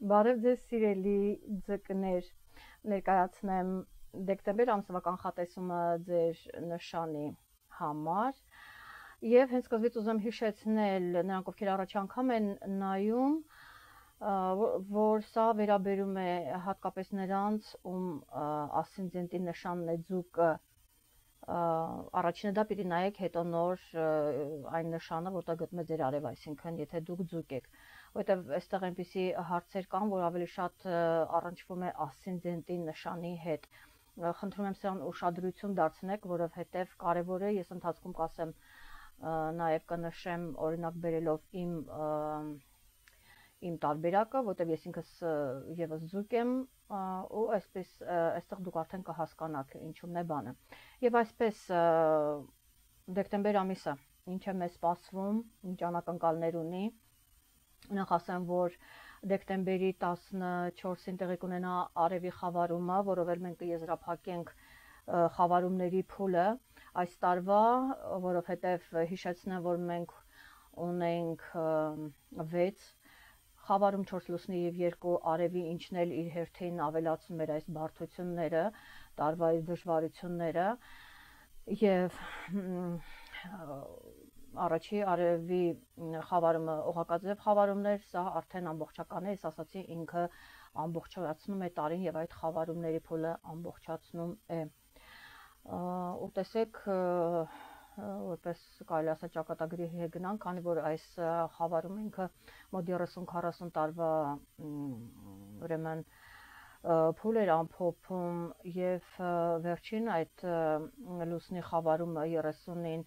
Բարև ձեզ սիրելի ձկներ, ներկայացնեմ դեկտեմբեր ամսվա կանխատեսումը ձեր նշանի համար եւ հենց սկզբից ուզում հիշեցնել նրանք, ովքեր առաջ անգամ են նայում, որ սա վերաբերում է հատկապես նրանց, ում ասցենդենտի նշանն է ձուկը, առաջինը դա պիտի նայեք, հետո նոր այն նշանը, որտեղ գտնվում է ձեր արև, այսինքն եթե դուք ձուկ եք, որտեղ այստեղ այնպիսի հարցեր կան, որ ավելի շատ առնչվում է ասցենդենտի նշանի հետ։ Խնդրում եմ սրան ուշադրություն դարձնեք, որովհետև կարևոր է, ես ընթացքում կասեմ, նաև կնշեմ օրինակ բերելով իմ տարբերակը, որտեղ ես ինքս եւս ձուկ եմ, ու այսպես այստեղ դուք արդեն կհասկանաք ինչու՞մն է բանը։ Եվ այսպես դեկտեմբեր ամիսը ինչ է մեզ սպասվում, ինչ անակնկալներ ունի։ Նախ ասեմ, որ դեկտեմբերի 14-ին տեղի կունենա արևի խավարումը, որով էլ մենք կեզրափակենք խավարումների փուլը այս տարվա, որովհետև հիշեցնեմ, որ մենք ունենք 6 խավարում 4 լուսնի եւ 2 արևի, ինչն էլ իր հերթին ավելացնում էր այս բարդությունները, տարվա դժվարությունները եւ առաջի արևի խավարումը օղակաձև խավարումներ, սա արդեն ամբողջական է, ես ասացի, ինքը ամբողջացնում է տարին եւ այդ խավարումների փուլը ամբողջացնում է։ Ու տեսեք, որպես կարելի ասել ճակատագրի հետ գնանք, քանի որ այս խավարումը ինքը մոտ 30-40 տարվա ուրեմն փուլ էր ամփոփում եւ վերջին այդ լուսնի խավարումը 30-ին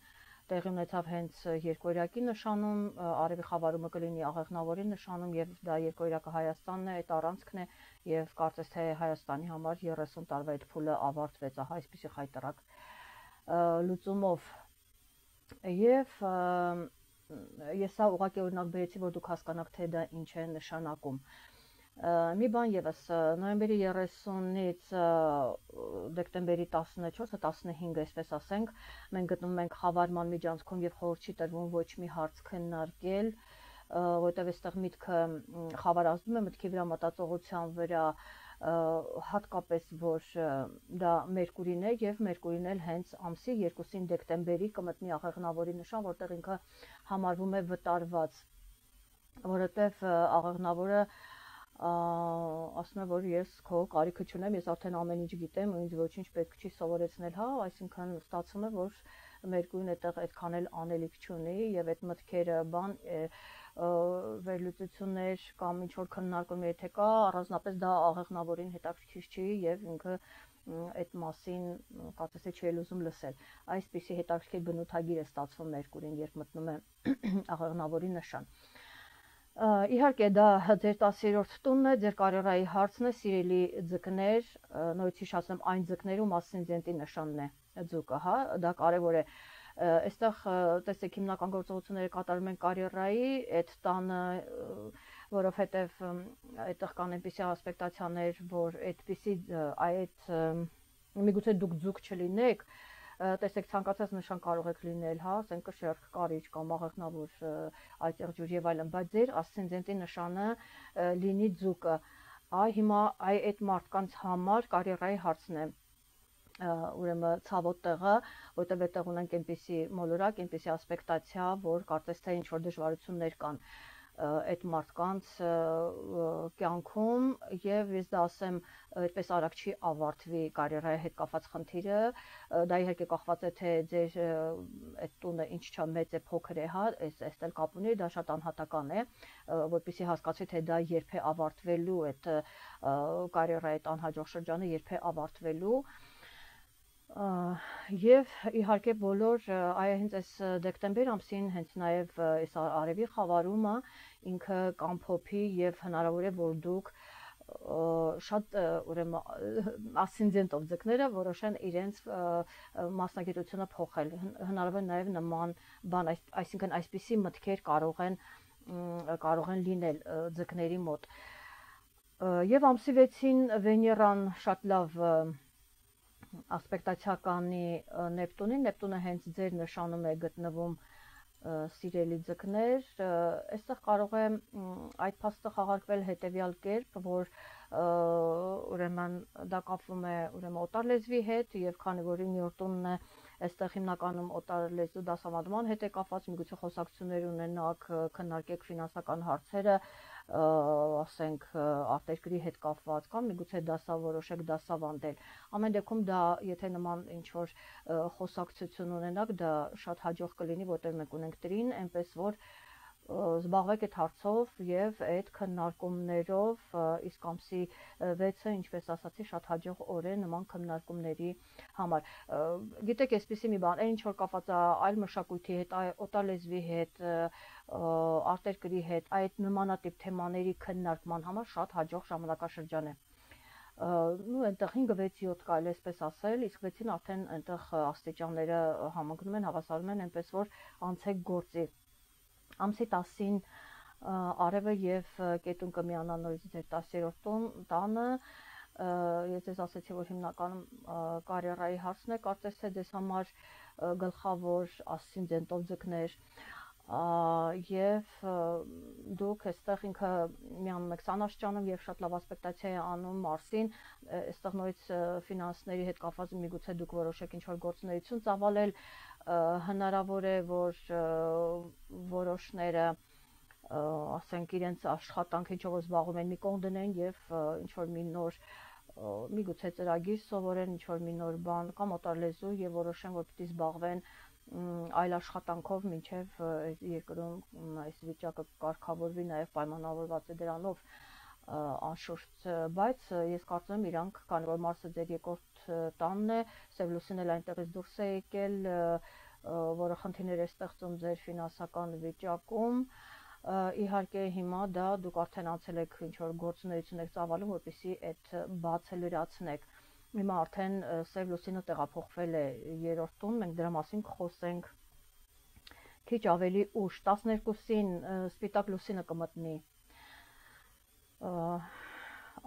տեղի ունեցավ հենց երկօրյակի նշանում, արևի խավարումը կլինի աղեղնավորի նշանում եւ դա երկօրյակը Հայաստանն է, այդ առանցքն է եւ կարծես թե Հայաստանի համար 30 տարվա այդ փուլը ավարտվեց, ահա այսպեսի խայտարակ լուծումով։ Եվ ես սա ուղղակի օրինակ բերեցի, որ դուք հասկանաք, թե դա ինչ է նշանակում։ Մի բան եւս, նոյեմբերի 30-ից դեկտեմբերի 14-15, այսպես ասենք, մենք գտնվում ենք խավարման միջանցքում եւ խորհուրդ չի տրվում ոչ մի հարց քննարկել, որտեղ այստեղ միտքը խավարազդում է մտքի վրա, մտածողության վրա, հատկապես որ դա Մերկուրին է եւ Մերկուրին էլ հենց ամսի 2-ին դեկտեմբերի կմտնի աղեղնավորի նշան, որտեղ ինքը համարվում է վտարված, որովհետեւ աղեղնավորը ասում է, որ ես քո կարիքը չունեմ, ես արդեն ամեն ինչ գիտեմ ու ինձ ոչինչ պետք չի սովորեցնել, հա, այսինքն ստացվում է, որ Մերկուրին այդտեղ այդքան էլ անելիք չունի եւ այդ մտքերը բան վերլուծություններ կամ ինչ որ քննարկում եթե կա, առանձնապես դա աղեղնավորին հետաքրքիր չի եւ ինքը այդ մասին կարծես թե չի ուզում լսել։ Այսպիսի հետաքրքիր բնութագիր է ստացվում Մերկուրին, երբ մտնում է աղեղնավորի նշան։ Իհարկե դա ձեր 10-րդ տունն է, ձեր կարիերայի հարցն է, սիրելի ձկներ, նորից հիշեցնեմ այն ձկներում ասցենդենտի նշանն է ձուկը, հա, դա կարևոր է։ Այստեղ տեսեք հիմնական գործողությունները կատարում են կարիերայի այդ տանը, որովհետև այդտեղ կան այնպիսի ասպեկտացիաներ, որ այդպիսի այդ միգուցե դուք ձուկ չլինեք, տեսեք ցանկացած նշան կարող եք լինել, հա, ասենք շերտ, կարիճ կամ աղեղնավոր, այծեղ ջուր եւ այլն, բայց ձեր ասցենդենտի նշանը լինի ձուկը։ Հիմա այդ մարդկանց համար կարիերայի հարցն է ուրեմն ցավոտ տեղը, որտեղ այդտեղ ունենք այնպիսի մոլորակ, այնպիսի ասպեկտացիա, որ կարծես թե ինչ որ դժվարություններ կան այդ մարդկանց կյանքում եւ ես դա ասեմ այդպես արագ չի ավարտվի կարիերայի հետ կապված խնդիրը, դա իհարկե կախված է թե ձեր այդ տունը ինչ չա մեծ է, փոքր է, հա, այս էլ կապ ունի, դա շատ անհատական է, որպեսզի հասկացվի թե դա երբ է ավարտվելու այդ կարիերայի այդ անհաջող շրջանը երբ է ավարտվելու։ Եվ իհարկե բոլոր հենց այս դեկտեմբեր ամսին հենց նաև այս արևի խավարումը ինքը կամփոփի եւ հնարավոր է որ դուք շատ ուրեմն ասցենդենտով ձկները որոշեն իրենց մասնագիտությունը փոխել, հնարավոր է նաև նման բան, այսինքն այսպիսի մտքեր կարող են լինել ձկների մոտ։ Եվ ամսի 6-ին Վեներան շատ լավ ասպեկտացիա կանի Նեպտունին, Նեպտունը հենց ձեր նշանում է գտնվում սիրելի ձկներ, այստեղ կարող է այդ փաստը խաղարկվել հետևյալ կերպ, որ ուրեմն դա կապվում է ուրեմն օտար լեզվի հետ, եւ քանի որ 9-րդ տունն է, այստեղ հիմնականում օտար լեզու դասավանդման հետ է կապված, միգուցե խոսակցություններ ունենաք, քննարկեք ֆինանսական հարցերը, ասենք արտերկրի հետ կապված կամ միգուցե որոշեք դասավանդել։ Ամեն դեպքում դա, եթե նման ինչ-որ խոսակցություն ունենաք, դա շատ հաջող կլինի, որտեղ մենք ունենք տրին, այնպես որ զբաղվեք այդ հարցով եւ այդ քննարկումներով, իսկ ամսի 6-ը, ինչպես ասացի, շատ հաջող օր է նման քննարկումների համար։ Գիտեք, այսպեսի մի բան, այն ինչ որ կապված է այլ մշակույթի հետ, օտար լեզվի հետ, արտերկրի հետ, այդ նմանատիպ թեմաների քննարկման համար շատ հաջող ժամանակաշրջան է։ Այնտեղ 5-6-7 կարելի այսպես ասել, իսկ 6-ին արդեն այնտեղ աստիճանները համընկնում են, հավասարում են, այնպես որ անցեք գործի։ Ամսի 10-ին արևը եւ կետուն կմիանան նորից ձեր 10-րդ տանը, ես ձեզ ասացի, որ հիմնականում կարիերայի հարցն է, կարծես թե ձեզ համար գլխավոր ասցենդենտով ձկներ, եւ դուք այստեղ ինքը միանում եք 20 աստիճանում եւ շատ լավ ասպեկտացիա է անում Մարսին, այստեղ նորից ֆինանսների հետ կապված միգուցե դուք որոշեք ինչ-որ գործունեություն ծավալել, հնարավոր է, որ որոշները ասենք իրենց աշխատանքը ինչով զբաղվում են մի կողմ դնեն եւ ինչ-որ մի նոր միգուցե ծրագիր սովորեն, ինչ-որ մի նոր բան կամ օտար լեզու եւ որոշեն, որ պիտի զբաղվեն այլ աշխատանքով, մինչև երկրում այս վիճակը կարգավորվի, նաեւ պայմանավորված է դրանով անշուշտ, բայց ես կարծում եմ իրանք, քանի որ Մարսը ձեր երկրորդ տանն է, Սև լուսինն էլ այնտեղից դուրս է եկել, որը խնդիրներ է ստեղծում ձեր ֆինանսական վիճակում, իհարկե հիմա դա դուք արդեն անցել եք ինչ-որ գործունեություն եք ծավալում, որպեսզի այդ բացը լրացնեք։ Հիմա արդեն Սև լուսինը տեղափոխվել է 3-րդ տուն, մենք դրա մասին կխոսենք քիչ ավելի ուշ, 12-ին սպիտակ լուսինը կմտնի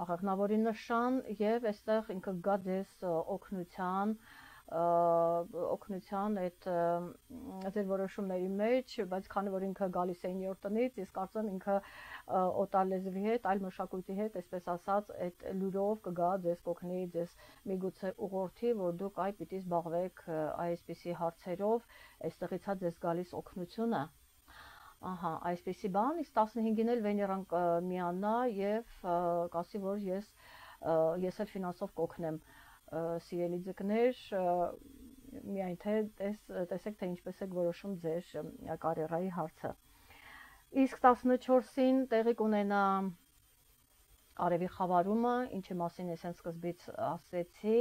աղեղնավորի նշան եւ այստեղ ինքը գա ձեզ օգնության այդ ձեր որոշումների մեջ, բայց քանի որ ինքը գալիս է 9-րդ տնից, ես կարծում եմ ինքը օտար լեզվի հետ, այլ մշակույթի հետ, այսպես ասած, այդ լուրով կգա ձեզ կօգնի, ձեզ միգուցե ուղղորդի, որ դուք այ պիտի զբաղվեք այսպիսի հարցերով, այստեղից է ձեզ գալիս օգնությունը։ Ահա, այսպեսի բան, իսկ 15-ին էլ Վեներան կմիանա եւ կասի, որ ես էլ ֆինանսով կօգնեմ, սիրելի ձկներ, միայն թե տեսեք, թե ինչպես եք որոշում ձեր կարիերայի հարցը։ Իսկ 14-ին տեղի կունենա արևի խավարումը, ինչի մասին ես հենց սկզբից ասեցի,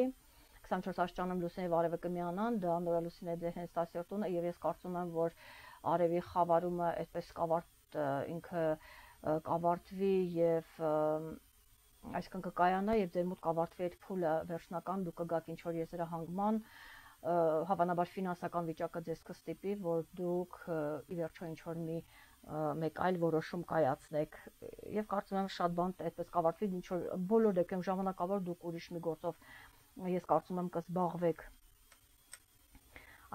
24 աստիճանում լուսինը եւ արևը կմիանան, դա նորալուսին է ձեր հենց 10-րդ տունը, եւ ես կարծում եմ, որ արևի խավարումը այդպես ինքը կավարտվի եւ այսինքն կկայանա եւ ձեր մոտ կավարտվի այդ փուլը վերջնական, դուք կգաք ինչ-որ եզրահանգման, հավանաբար ֆինանսական վիճակը ձեզ կստիպի, որ դուք ի վերջո ինչ-որ մեկ այլ որոշում կայացնեք եւ կարծում եմ շատ բան այդպես կավարտվի, ինչ-որ բոլոր դեպքերում ժամանակավոր դուք ուրիշ մի գործով ես կարծում եմ կզբաղվեք։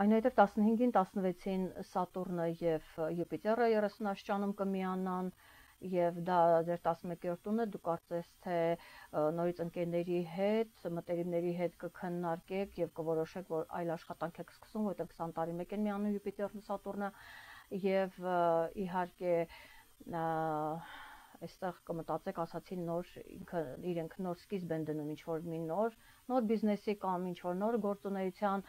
Այնուհետև 15-ին, 16-ին Սատուրնը եւ Յուպիտերը 30 աստիճանում կմիանան եւ դա ձեր 11-րդ տունը, դուք կարծես թե նորից ընկերների հետ, մտերիմների հետ կքննարկեք եւ կորոշեք, որ այլ աշխատանք եք սկսում, որտեղ 20 տարի մեկ են միանում Յուպիտերն ու Սատուրնը եւ իհարկե այստեղ կմտածեք, ասացի, իրենք նոր սկիզբ են դնում ինչ-որ մի նոր բիզնեսի կամ ինչ-որ նոր գործունեության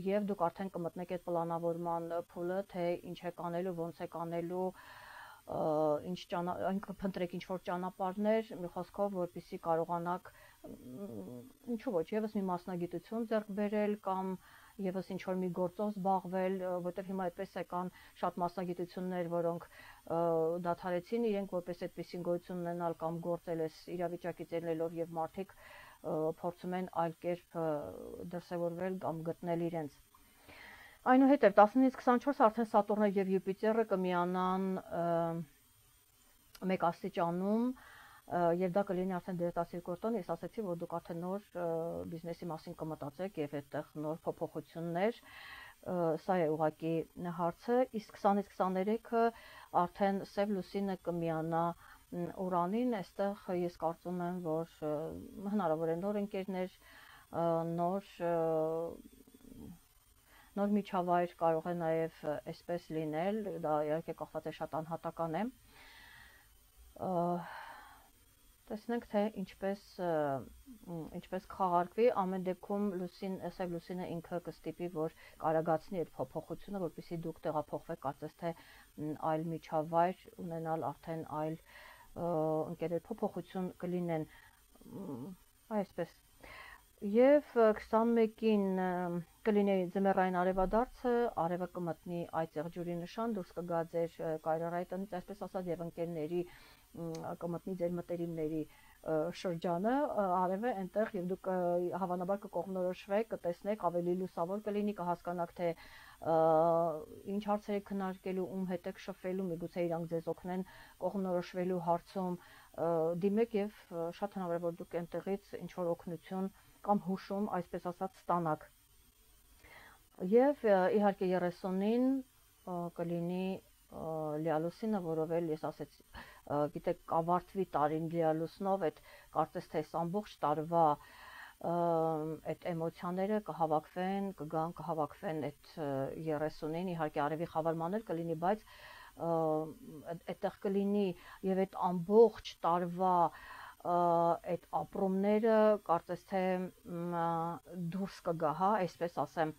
եւ դուք արդեն կմտնեք այդ պլանավորման փուլը, թե ինչ եք անելու, ոնց եք անելու, փնտրեք ինչ-որ ճանապարհներ, մի խոսքով, որպեսզի կարողանաք ինչու ոչ, եւս մի մասնագիտություն ձեռք բերել կամ եւս ինչ-որ մի գործով զբաղվել, որտեղ հիմա այդպես է կան շատ մասնագիտություններ, որոնք դադարեցին իրենք որպես այդպեսին գոյություն ունենալ կամ գործել այս իրավիճակից ելնելով եւ մարդիկ փորձում են այլ կերպ դրսևորվել կամ գտնել իրենց։ Այնուհետև 19-ից 24 արդեն Սատուրնը եւ Յուպիտերը կմիանան 1 աստիճանում եւ դա կլինի արդեն դեր 12-րդ տոն, ես ասացի, որ դուք արդեն նոր բիզնեսի մասին կմտածեք եւ այդտեղ նոր փոփոխություններ Սա է ուղղակի հարցը, իսկ 20-ից 23-ը արդեն Սև լուսինը կմիանա Ուրանին, այստեղ ես կարծում եմ, որ հնարավոր է նոր ընկերներ, նոր միջավայր կարող է նաև այսպես լինել, դա իհարկե կախված է շատ անհատական է։ Տեսնենք, թե ինչպես կխաղարկվի, ամեն դեպքում Սև լուսինը ինքը կստիպի, որ կարագացնի այդ փոփոխությունը, որպեսզի դուք տեղափոխվեք, կարծես թե այլ միջավայր ունենալ, արդեն այլ ընկերներ փոփոխություն կլինեն, այսպես։ Եվ 21-ին կլինի ձմեռային արևադարձը, արևը կմտնի այդ եղջյուրի նշան, դուրս կգա ձեր կայրարայի տնից, այսպես ասած, եւ ընկերների կմտնի ձեր մտերիմների շրջանը, արևը այնտեղ, եւ դուք հավանաբար կկողմնորոշվեք, կտեսնեք, ավելի լուսավոր կլինի, կհասկանաք, թե ինչ հարցեր եք քննարկելու, ում հետ եք շփվելու, միգուցե իրանք ձեզ օգնեն կողմնորոշվելու հարցում, դիմեք եւ շատ հնարավոր է, որ դուք այնտեղից ինչ որ օգնություն կամ հուշում, այսպես ասած, ստանաք։ Եվ իհարկե 30-ին կլինի լիալուսինը, որով էլ ես ասեցի, գիտեք, կավարտվի տարին լիալուսնով, այդ կարծես թե ամբողջ տարվա այդ էմոցիաները կհավաքվեն այդ 30-ին, իհարկե արևի խավարման էլ կլինի, բայց այդտեղ կլինի եւ այդ ամբողջ տարվա այդ ապրումները կարծես թե դուրս կգա, հա, այսպես ասեմ,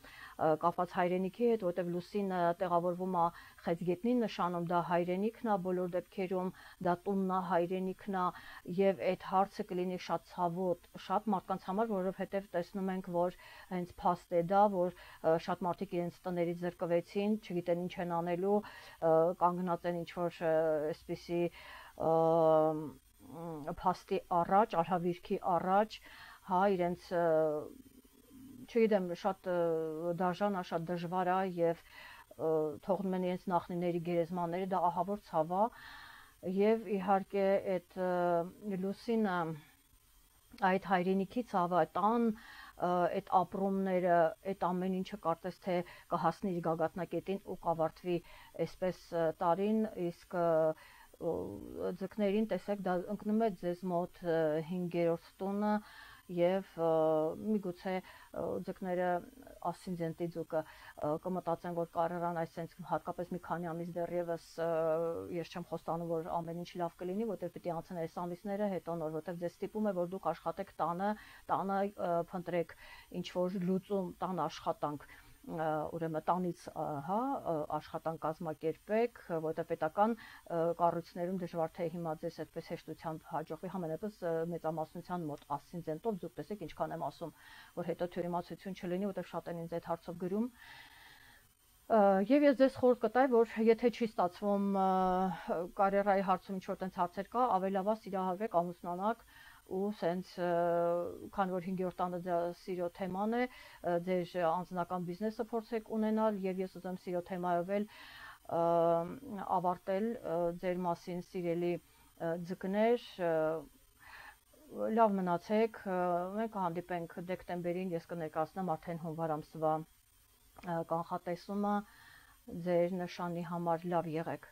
կապված հայրենիքի հետ, որտեղ լուսինը տեղավորվում է խեցգետնի նշանում, դա հայրենիքն է բոլոր դեպքերում, դա տունն է, հայրենիքն է, եւ այդ հարցը կլինի շատ ցավոտ, շատ մարդկանց համար, որովհետեւ տեսնում ենք, որ հենց փաստ է դա, որ շատ մարդիկ իրենց տներից զրկվեցին, չգիտեն ինչ են անելու, կանգնած են ինչ որ այսպիսի փաստի առաջ, արհավիրքի առաջ, հա, իրենց չգիտեմ, շատ դաժան է, շատ դժվար է եւ թողնում են իրենց նախնիների գերեզմանները, դա ահավոր ցավ է եւ իհարկե այդ լուսինը, այդ հայրենիքի ցավը, տան այդ ապրումները, այդ ամեն ինչը կարծես թե կհասնի իր գագաթնակետին ու կավարտվի այսպես տարին, իսկ ձկներին տեսեք, դա ընկնում է ձեզ մոտ 5-րդ տունը եւ միգուցե ձկները ասցենդենտի ձուկը կմտածեն, որ կարողան այսպես հատկապես մի քանի ամիս դեռևս ես չեմ խոստանում, որ ամեն ինչ լավ կլինի, որտեղ պիտի անցնեն այս ամիսները, հետո նոր, որտեղ ձեզ ստիպում է, որ դուք աշխատեք տանը փնտրեք ինչ որ լուծում, տան աշխատանք, ուրեմն տանից, հա, աշխատանք կազմակերպեք, որտեղ պետական կառույցներում դժվար թե հիմա ձեզ այդպես հեշտությամբ հաջողվի, համենայնպես մեծամասնության մոտ ասցենդենտով դուք տեսեք ինչքան եմ ասում, որ հետո թյուրիմացություն չլինի, որտեղ շատ են ինձ այդ հարցով գրում։ Եվ ես ձեզ խորհուրդ կտայի, որ եթե չի ստացվում կարիերայի հարցում ինչ որ տենց հարցեր կա, ավելի լավ է սիրահարվեք, ամուսնանաք ու սենց, քանի որ 5-րդ տանը սիրո թեման է, ձեր անձնական բիզնեսը փորձեք ունենալ եւ ես ուզում սիրո թեմայով էլ ավարտել ձեր մասին սիրելի ձկներ, լավ մնացեք, մենք կհանդիպենք դեկտեմբերին, ես կներկայացնեմ արդեն հունվար ամսվա կանխատեսումը ձեր նշանի համար, լավ եղեք։